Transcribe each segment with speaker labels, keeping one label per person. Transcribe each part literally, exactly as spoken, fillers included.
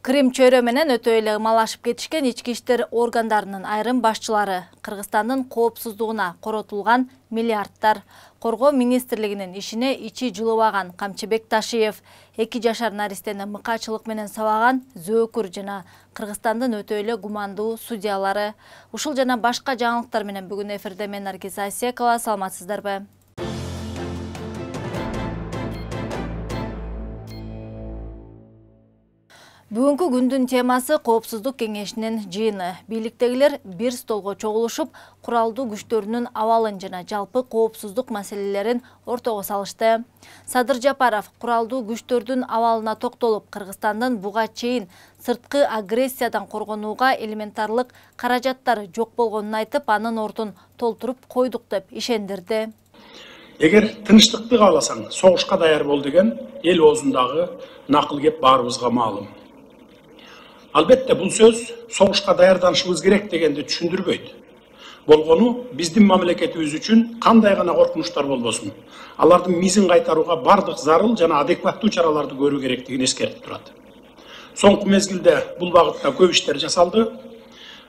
Speaker 1: Крым чөйрө менен өтө эле ымалашып кетишкен ички иштер органдарынын айрым башчылары Кыргызстандын коопсуздугуна коротулган миллиардтар. Коргоо министрлигинин ишине ичи жылыбаган Камчыбек Ташиев, эки жашар наристени мыкачылык менен сабаган Зөөкүр жана Кыргызстандын өтө эле гумандуу судьялары. Ушул жана башка жаңылыктар менен бүгүн эфирде мен Наргиз Асекова. Саламатсыздарбы? Бүгүнкү күндүн темасы Коопсуздук кеңешинин жыйыны. Бийликтегилер бир столго чогулушуп, куралдуу күчтөрүнүн абалын жана жалпы коопсуздук маселелерин ортого салышты. Садыр Жапаров куралдуу күчтөрдүн абалына токтолуп, Кыргызстандын буга чейин сырткы агрессиядан коргонууга элементарлык каражаттары жок болгонун айтып, анын ордун толтуруп койдук деп ишендирди.
Speaker 2: Эгер тынчтыкты кааласаң, согушка даяр бол деген эл оозундагы накыл кеп баарыбызга маалым. Албетте бул сөз согушка даярданышыбыз керек дегенди түшүндүрбөйт. Болгону биздин мамлекетибиз үчүн кандай гана коркунучтар болбосун, алардын мизин кайтарууга бардык зарыл жана адекваттуу чараларды көрүү керектигин эскертип турат. Соңку мезгилде бул багытта көп иштер жасалды.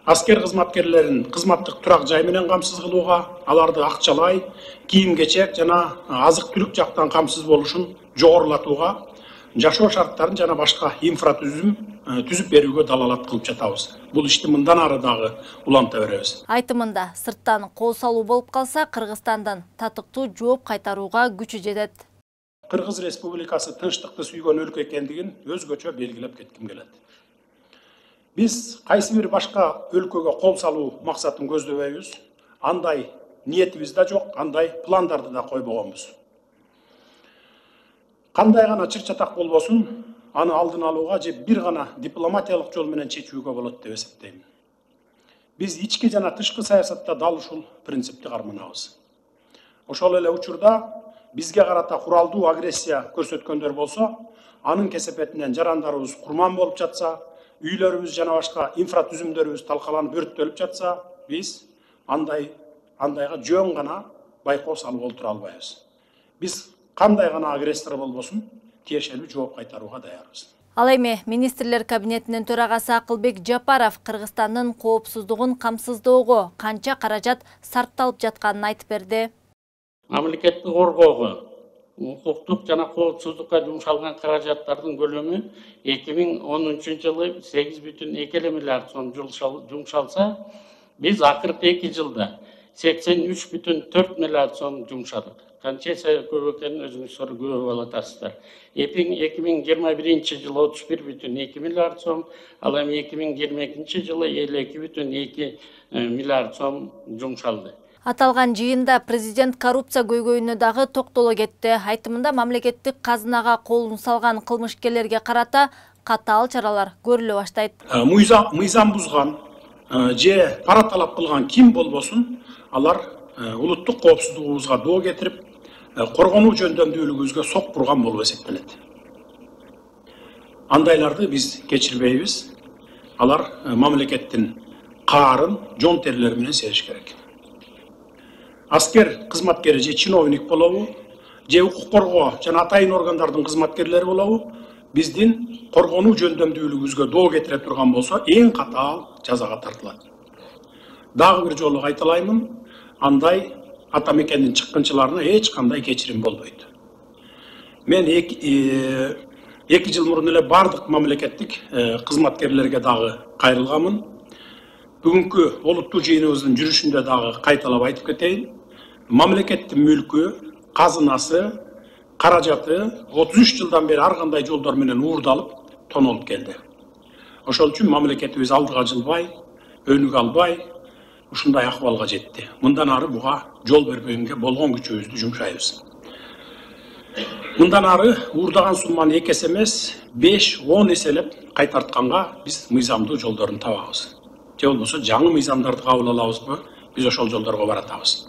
Speaker 2: Аскер кызматкерлерин кызматтык турак жай менен камсыз кылууга, аларды акчалай, кийим-кечек жана азык-түлүк жактан камсыз болушун жогорулатууга, жашоо шарттарын жана башка инфратүзүм түзүп берүүгө далалат кылып жатабыз. Бул ишти мындан ары дагы уланта беребиз.
Speaker 1: Айтымында сырттан кол салуу болуп калса, Кыргызстандан татыктуу жооп кайтарууга күчү жетет.
Speaker 2: Кыргыз Республикасы тынчтыкты сүйгөн өлкө экендигин өзгөчө белгилеп кетким келет. Биз кайсы бир башка өлкөгө кол салуу максатын көздөбөйбүз. Андай ниетибиз да жок, андай пландарды да койбогонбуз. Кандай гана чыр-чатак болбосун, аны алдын алууга же бир гана дипломатиялык жол менен чечүүгө болот деп эсептейм. Биз ички жана тышкы саясатта дал ушул принципти карманабыз. Ошол эле учурда бизге карата куралдуу агрессия көрсөткөндөр болсо, анын кесепетинен жарандарыбыз курман болуп жатса, үйлөрүбүз жана башка инфратүзүмдөрүбүз талкаланып өрттөлүп жатса, биз андай андайга жөн гана байкоо салып олтура албайбыз. Биз кандай гана агрессор болбосун, тиешелүү жооп кайтарууга даярбыз.
Speaker 1: Ал эми министрлер кабинетинин төрагасы Акылбек Жапаров Кыргызстандын коопсуздугун камсыздоого канча каражат сарпталып жатканын айтып берди.
Speaker 3: Мамлекетти коргоого, укуктук жана коопсуздукка жумшалган каражаттардын көлөмү эки миң онунчу жылы сегиз бүтүн эки миллиард сом жумшалса, биз акыркы эки жылда сексен үч бүтүн төрт миллиард сом жумшадык. Канча көп экенин өзүңүздөр көрүп алатасыздар. эки миң жыйырма биринчи жылы отуз бир бүтүн эки миллиард сом, ал эми эки миң жыйырма экинчи жылы элүү эки бүтүн эки миллиард сом жумшалды.
Speaker 1: Аталган жыйында президент коррупция көйгөйүнө дагы токтоло кетти. Айтымында мамлекеттик казынага колун салган кылмышкерлерге карата катаал чаралар көрүлө баштайт.
Speaker 2: Мыйзам бузган же пара талап кылган ким болбосун, алар улуттук коопсуздугубузга доо кетирип, коргонуу жөндөмдүүлүгүбүзгө сок бурган болуп эсептелет. Андайларды биз кечирбейбиз. Алар мамлекеттин каарын жон терилери менен сериш керек. Аскер кызматкери же чиновник болобу, же укук коргоо жана атайын органдардын кызматкерлери болобу, биздин коргонуу жөндөмдүүлүгүбүзгө доо кетире турган болсо, эң катаал жазага тартылат. Дагы бир жолу кайталаймын, андай ата мекендин чыккынчыларына эч кандай кечирим болбойт. Мен эки жыл мурун эле бардык мамлекеттик кызматкерлерге дагы кайрылганмын. Бүгүнкү олуттуу жыйыныбыздын жүрүшүндө дагы кайталап айтып кетейин. Мамлекеттин мүлкү, казынасы, каражаты отуз үч жылдан бери ар кандай жолдор менен уурдалып, тонолуп келди. Ошол үчүн мамлекетибиз алдыга жылбай, өнүгө албай, ушундай акыбалга жетти. Мындан ары буга жол бербегенге болгон күчүбүздү жумшайбыз. Мындан ары уурдаган сумманы эки эсе эмес, беш он эселеп кайтартканга биз мыйзамдуу жолдорун табабыз. Же болбосо жаңы мыйзамдарды кабыл алабызбы, биз ошол жолдорго баратабыз.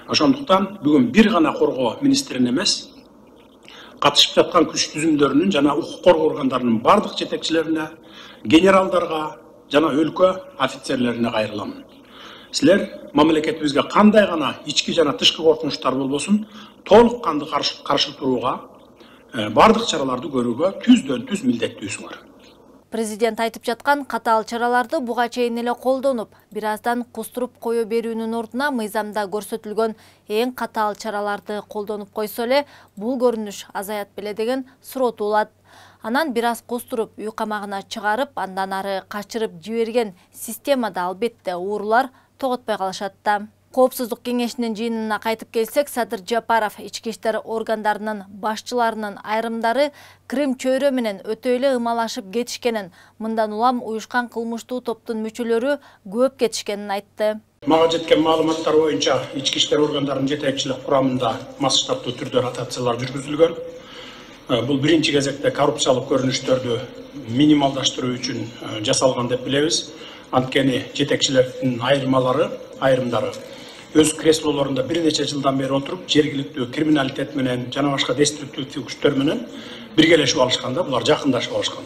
Speaker 2: Ошондуктан бүгүн бир гана коргоо министрин эмес, катышып жаткан күч түзүмдөрүнүн жана укук коргоо органдарынын бардык жетекчилерине, генералдарга жана өлкө офицерлерине кайрыламын. Силер мамлекетибизге кандай гана ички жана тышкы коркунучтар болбосун, толук канды каршы турууга, бардык чараларды көрүүгө түздөн түз милдеттүүсүңөр.
Speaker 1: Президент айтып жаткан катаал чараларды буга чейин эле колдонуп, бир аздан кустуруп кое берүүнүн ордуна мыйзамда көрсөтүлгөн эң катаал чараларды колдонуп койсо эле бул көрүнүш азаят беле деген суроо туулат. Анан бир аз кустуруп үй камагына чыгарып, андан ары качырып жиберген системада албетте уурулар тоготпой калышат да. Коопсуздук кеңешинин жыйынына кайтып келсек, Садыр Жапаров ички иштер органдарынын башчыларынын айрымдары Крым чөйрө менен өтө эле ымалашып кетишкенин, мындан улам уюшкан кылмыштуу топтун мүчөлөрү көп кетишкенин айтты.
Speaker 2: Мага жеткен маалыматтар боюнча ички иштер органдарынын жетекчилик курамында масштабтуу түрдө ротациялар жүргүзүлгөн. Бул биринчи кезекте коррупциялык көрүнүштөрдү минималдаштыруу үчүн жасалган деп билебиз. Анткени жетекчилердин айырмалары, айрымдары өз креслолорунда бир нече жылдан бери отуруп, жергиликтүү криминалитет менен жана башка деструктивдүү күчтөр менен биргелешип алышканда, булар жакындашып алышкан.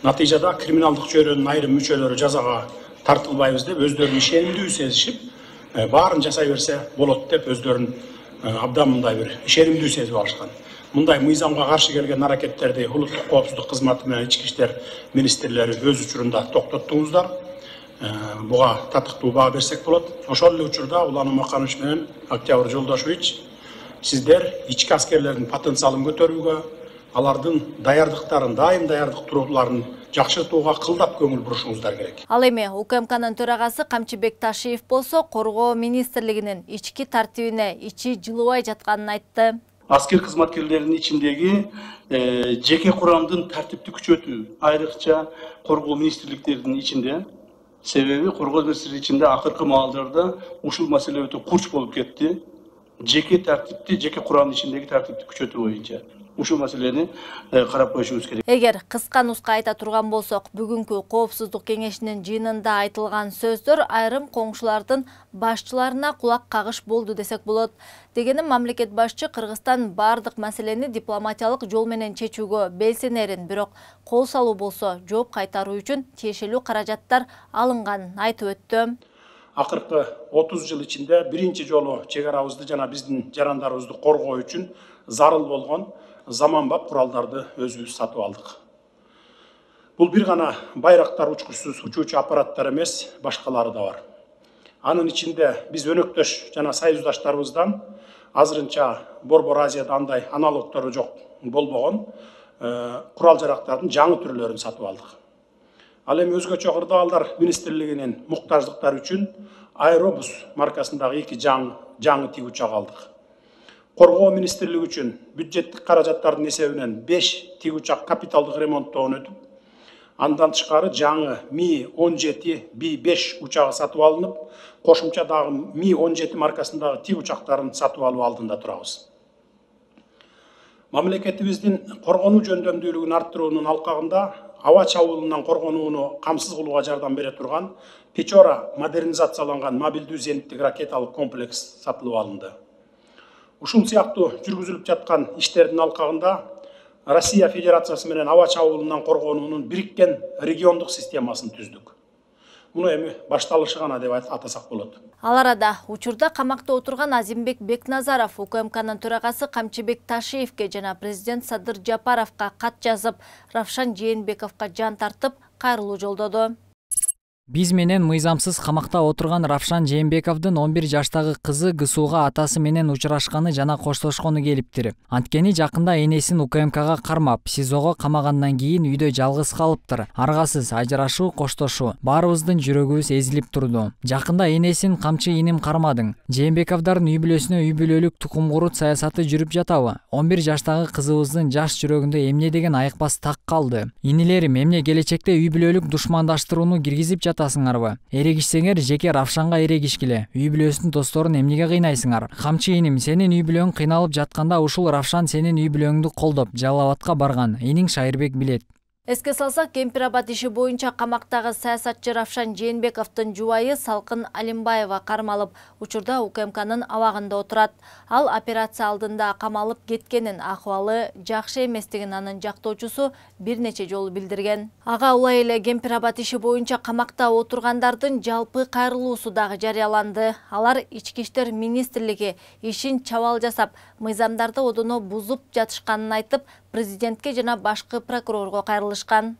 Speaker 2: Натыйжада криминалдык чөйрөнүн айрым мүчөлөрү жазага тартылбайбыз деп өздөрүн ишенимдүү сезишип, баарын жасай берсе болот деп өздөрүн абдан мындай бир ишенимдүү сезип алышкан. Мындай мыйзамга каршы келген аракеттерди улуттук коопсуздук кызматы менен ички иштер министрлери өз учурунда токтоттуңуздар. Буга татыктуу баа берсек болот. Ошол эле учурда Улан Маканович менен Октябрь Жолдошевич, сиздер ички аскерлердин потенциалын көтөрүүгө, алардын даярдыктарын, дайым даярдык турууларын жакшыртууга кылдап көңүл бурушуңуздар керек.
Speaker 1: Ал эми УКМКнын төрагасы Камчыбек Ташиев болсо, Коргоо министрлигинин ички тартибине ичи жылыбай жатканын айтты.
Speaker 4: Аскер кызматкерлеринин ичиндеги жеке курамдын тартипти күчөтүү, айрыкча Коргоо министрликтеринин ичинде. Себеби Коргоо министрлиги ичинде акыркы маалдарда ушул маселе өтө курч болуп кетти. Жеке тартипти, жеке курамдын ичиндеги тартипти күчөтүү боюнча ушул маселени карап коюшубуз керек.
Speaker 1: Эгер кыска нуска айта турган болсок, бүгүнкү коопсуздук кеңешинин жыйынында айтылган сөздөр айрым коңшулардын башчыларына кулак кагыш болду десек болот. Дегени мамлекет башчы Кыргызстан бардык маселени дипломатиялык жол менен чечүүгө белсенерин, бирок кол салуу болсо жооп кайтаруу үчүн тиешелүү каражаттар алынганын айтып өттү.
Speaker 2: Акыркы отуз жыл ичинде биринчи жолу чек арабызды жана биздин жарандарыбызды коргоо үчүн зарыл болгон заманбап куралдарды өзүбүз сатып алдык. Бул бир гана байрактар учкучсуз учуучу аппараттар эмес, башкалары да бар. Анын ичинде биз өнөктөш жана союздаштарыбыздан азырынча Борбор Азияда андай аналогтору жок болбогон курал жарактардын жаңы түрлөрүн сатып алдык. Ал эми өзгөчө кырдаалдар министрлигинин муктаждыктары үчүн Аэробус маркасындагы эки жаңы жаңы тик учак алдык. Коргоо министрлиги үчүн бюджеттик каражаттардын эсебинен беш тик учак капиталдык ремонттоон өтүп, андан тышкары жаңы Ми он жети Би беш учагы сатып алынып, кошумча дагы Ми он жети маркасындагы тик учактарын сатып алуу алдында турабыз. Мамлекетибиздин коргонуу жөндөмдүүлүгүн арттыруунун алкагында аба чабуулунан коргонууну камсыз кылууга жардам бере турган Печора модернизацияланган мобилдүү зениттик ракеталык комплекс сатылып алынды. Ушул сыяктуу жүргүзүлүп жаткан иштердин алкагында Россия Федерациясы менен аба чабуулунан коргонуунун бириккен региондук системасын түздүк. Муну эми башталышы гана деп атасак болот.
Speaker 1: Ал арада учурда камакта отурган Азимбек Бекназаров УКМКнын төрагасы Камчыбек Ташиевке жана президент Садыр Жапаровка кат жазып, Равшан Жээнбековго жан тартып, кайрылуу жолдоду.
Speaker 5: Биз менен мыйзамсыз камакта отурган Равшан Жээнбековдун он бир жаштагы кызы ГСУга атасы менен учурашканы жана коштошкону келиптир. Анткени жакында энесин УКМКга кармап, СИЗОго камагандан кийин үйдө жалгыз калыптыр. Аргасыз ажырашуу, коштошуу, баарыбыздын жүрөгүбүз эзилип турду. Жакында энесин камчы иним кармадың. Жээнбековдордун үй бүлөсүнө үй бүлөлүк тукум курут саясаты жүрүп жатабы? он бир жаштагы кызыбыздын жаш жүрөгүндө эмне деген айыкпас так калды? Инилерим, эмне келечекте үй бүлөлүк душмандаштырууну киргизип жатасыңарбы? Эрегишсеңер жеке Равшанга эрегишкиле. Үй бүлөсүнүн досторун эмнеге кыйнайсыңар? Камчы иним, сенин үй бүлөң кыйналып жатканда ушул Равшан сенин үй бүлөңдү колдоп, Жалал Абадка барган. Иниң Шайырбек билет.
Speaker 1: Эске салсак, Кемпир-Абад иши боюнча камактагы саясатчы Равшан Жээнбековдун жубайы Салкын Алимбаева кармалып, учурда УКМКнын абагында отурат. Ал операция алдында камалып кеткенин, акыбалы жакшы эместигин анын жактоочусу бир нече жолу билдирген. Ага улай эле Кемпир-Абад иши боюнча камакта отургандардын жалпы кайрылуусу дагы жарыяланды. Алар ички иштер министрлиги ишин чабал жасап, мыйзамдарды одоно бузуп жатышканын айтып, президентке жана башкы прокурорго кайрылышкан.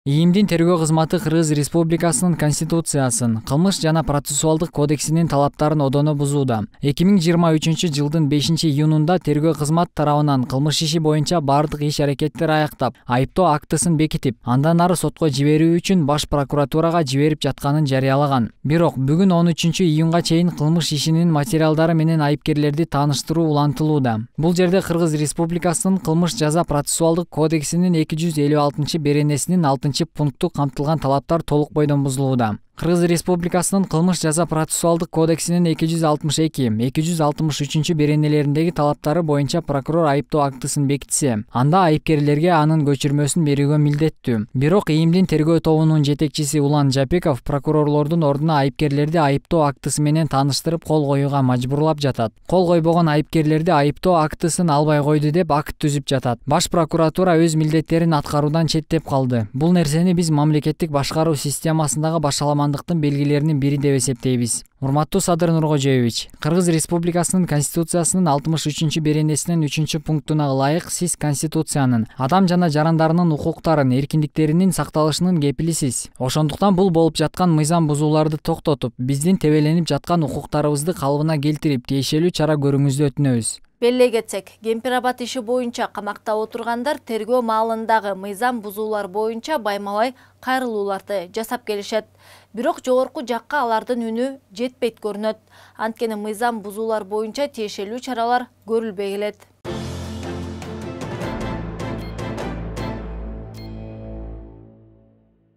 Speaker 5: ИИМдин тергөө кызматы Кыргыз Республикасынын Конституциясын, кылмыш жана процессуалдык кодексинин талаптарын одоно бузууда. эки миң жыйырма үчүнчү жылдын бешинчи июнунда тергөө кызмат тарабынан кылмыш иши боюнча бардык иш-аракеттер аяктап, айыптоо актысын бекитип, андан ары сотко жиберүү үчүн Баш прокуратурага жиберип жатканын жарыялаган. Бирок бүгүн он үчүнчү июнга чейин кылмыш ишинин материалдары менен айыпкерлерди тааныштыруу улантылууда. Бул жерде Кыргыз Республикасынын кылмыш жаза процессуалдык кодексинин эки жүз элүү алтынчы беренесинин алтынчы пункту камтылган талаптар толук бойдон бузулууда. Кыргыз Республикасынын кылмыш жаза процессуалдык кодексинин эки жүз алтымыш эки, эки жүз алтымыш үчүнчү беренелериндеги талаптары боюнча прокурор айыптоо актысын бекитсе, анда айыпкерлерге анын көчүрмөсүн берүүгө милдеттүү. Бирок ИИМдин тергөө тобунун жетекчиси Улан Жапеков прокурорлордун ордуна айыпкерлерди айыптоо актысы менен тааныштырып кол коюуга мажбурлап жатат. Кол койбогон айыпкерлерди айыптоо актысын албай койду деп акт түзүп жатат. Баш прокуратура өз милдеттерин аткаруудан четтеп калды. Бул нерсени биз мамлекеттик башкаруу системасындагы башаламан белгилеринин бири деп эсептейбиз. Урматтуу Садыр Нуркожоевич, Кыргыз Республикасынын Конституциясынын алтымыш үчүнчү беренесинин үчүнчү пунктуна ылайык сиз Конституциянын, адам жана жарандарынын укуктарын, эркиндиктеринин сакталышынын кепилисиз. Ошондуктан бул болуп жаткан мыйзам бузууларды токтотуп, биздин тебеленип жаткан укуктарыбызды калыбына келтирип, тиешелүү чара көрүүңүздү өтүнөбүз.
Speaker 1: Беллей кетсек, Кемпирабад иши боюнча камакта отургандар тергөө маалындагы мыйзам бузуулар боюнча байма-бай кайрылууларды жасап келишет. Бирок жогорку жакка алардын үнү жетпейт көрүнөт. Анткени мыйзам бузуулар боюнча тиешелүү чаралар көрүлбөй келет.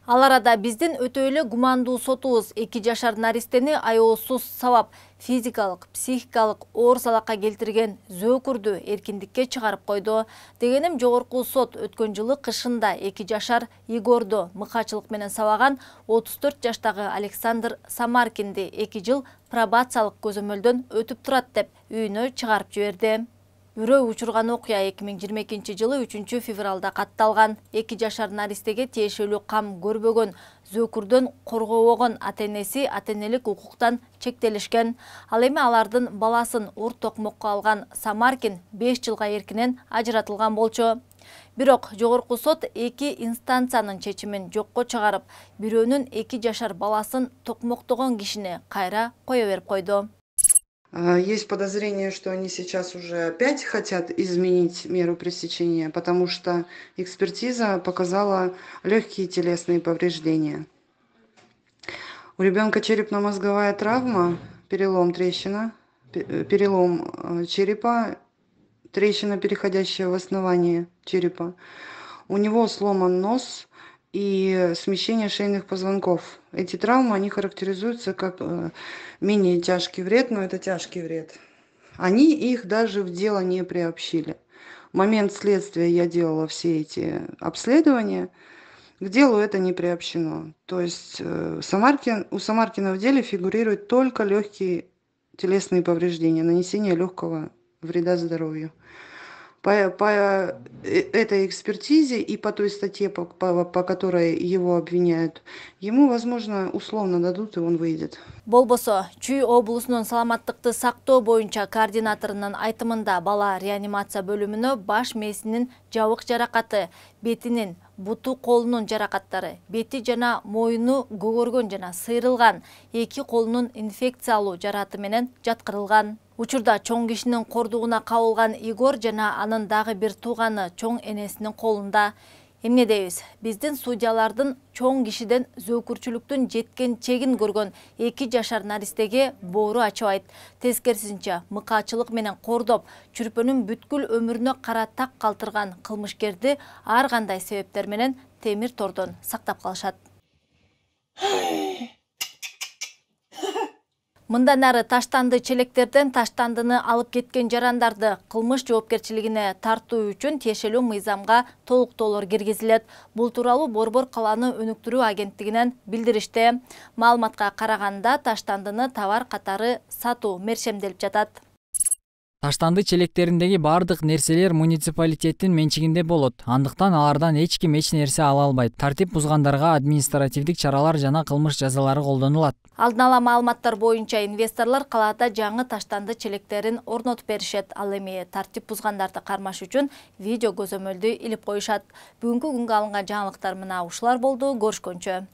Speaker 1: Ал арада биздин өтө эле гумандуу сотубуз эки жашар наристени аеосуз сабап, физикалык, психикалык оор залакка келтирген зөөкүрдү эркиндикке чыгарып койду. Дегеним, жогорку сот өткөн жылы кышында эки жашар Игорду мыкачылык менен сабаган отуз төрт жаштагы Александр Самаркинди эки жыл пробациялык көзөмөлдөн өтүп турат деп үйүнө чыгарып жиберди. Үрөө учурган окуя эки миң жыйырма экинчи жылы үчүнчү февралда катталган. эки жашар наристеге тиешелүү кам көрбөгөн, зөөкүрдөн коргобогон ата-энеси ата-энелик укуктан чектелишкен. Ал эми алардын баласын ур токмокко алган Самаркин беш жылга эркинен ажыратылган болчу. Бирок жогорку сот эки инстанциянын чечимин жокко чыгарып, бирөөнүн эки жашар баласын токмоктогон кишини кайра кое берип койду.
Speaker 6: Есть подозрение, что они сейчас уже опять хотят изменить меру пресечения, потому что экспертиза показала легкие телесные повреждения. У ребенка черепно-мозговая травма, перелом трещина, перелом черепа, трещина, переходящая в основание черепа. У него сломан нос и смещение шейных позвонков. Эти травмы, они характеризуются как менее тяжкий вред, но это тяжкий вред. Они их даже в дело не приобщили. В момент следствия я делала все эти обследования, к делу это не приобщено. То есть Самаркин, у Самаркина в деле фигурируют только легкие телесные повреждения, нанесение легкого вреда здоровью. По, по этой экспертизе и по той статье, по, по, по которой его обвиняют, ему, возможно, условно дадут, и он выйдет.
Speaker 1: Болбосо, Чүй облусунун саламаттыкты сактоо боюнча координаторунун айтымында бала реанимация бөлүмүнө баш мээсинин жабык жаракаты, бетинин, буту колунун жаракаттары, бети жана моюну көгөргөн жана сыйрылган, эки колунун инфекциялуу жараты менен жаткырылган. Учурда чоң кишинин кордугуна кабылган Игор жана анын дагы бир тууганы чоң энесинин колунда. Эмне дейбиз? Биздин судьялардын чоң кишиден зөөкүрчүлүктүн жеткен чегин көргөн эки жашар наристеге боору ачыбайт. Тескерисинче, мыкачылык менен кордоп, чүрпөнүн бүткүл өмүрүнө кара так калтырган кылмышкерди ар кандай себептер менен темир тордон сактап калышат. Мындан ары таштанды челектерден таштандыны алып кеткен жарандарды кылмыш жоопкерчилигине тартуу үчүн тиешелүү мыйзамга толуктоолор киргизилет. Бул тууралуу Борбор каланы өнүктүрүү агенттигинен билдиришти. Маалыматка караганда таштандыны товар катары сатуу мерчемделип жатат.
Speaker 5: Таштанды челектериндеги бардык нерселер муниципалитеттин менчигинде болот. Андыктан алардан эч ким эч нерсе ала албайт. Тартип бузгандарга административдик чаралар жана кылмыш жазалары колдонулат.
Speaker 1: Алдын ала маалыматтар боюнча инвесторлор калаада жаңы таштанды челектерин орнотуп беришет. Ал эми тартип бузгандарды кармаш үчүн видео көзөмөлдү илип коюшат. Бүгүнкү күнгө алынган жаңылыктар мына ушулар болду. Көрүшкөнчө.